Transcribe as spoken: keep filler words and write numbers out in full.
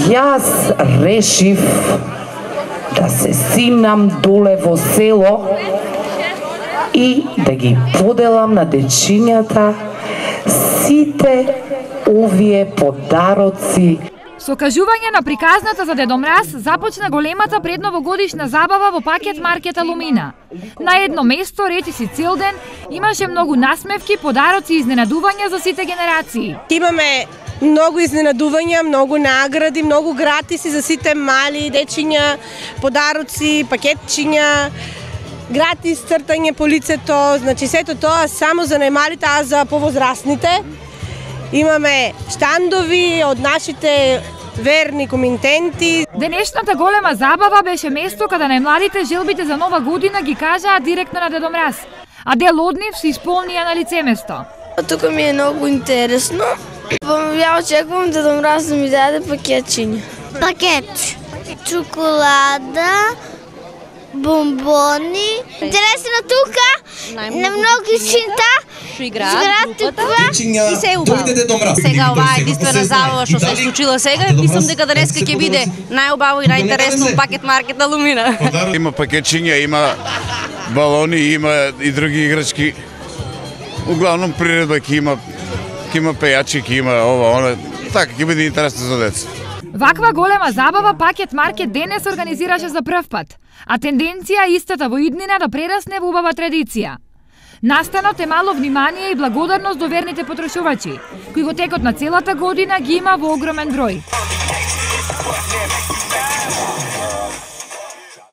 Јас решив да се симнам доле во село и да ги поделам на дечињата сите овие подароци. Со кажување на приказната за Дедо Мраз започна големата предновогодишна забава во пакет маркет Алумина. На едно место, речиси цел ден, имаше многу насмевки, подароци и изненадувања за сите генерации. Имаме многу изненадувања, многу награди, многу гратиси за сите мали дечиња, подароци, пакетчиња, гратис цртање по лицето, значи сето тоа само за најмалите, а за повозрасните. Имаме штандови од нашите верни комитенти. Денешната голема забава беше место каде најмладите желбите за нова година ги кажаа директно на Дедо Мраз, а дел од нив се исполнија на лице место. Тука ми е многу интересно. Ја очекувам Дедо Мраз да ми даде пакетчиња. Пакет. Чоколада, бомбони. Интересно тука, на многу чинта. Што играат групата и се убаво. Сега оваа единствена забава што се случила сега, мислам дека денеска ќе биде најубаво и најинтересно пакет маркет Алумина. Има пакетчиња, има балони, има и други играчки. Углавном приредба ќе има, ќе има пејачи, ќе има ова, она. Така ќе биде интересно за деца. Ваква голема забава пакет маркет денес организираше за прв пат, а тенденција истата во иднина да прерасне во убава традиција. Настанот е мало внимание и благодарност до верните потрошувачи, кои во текот на целата година ги има во огромен број.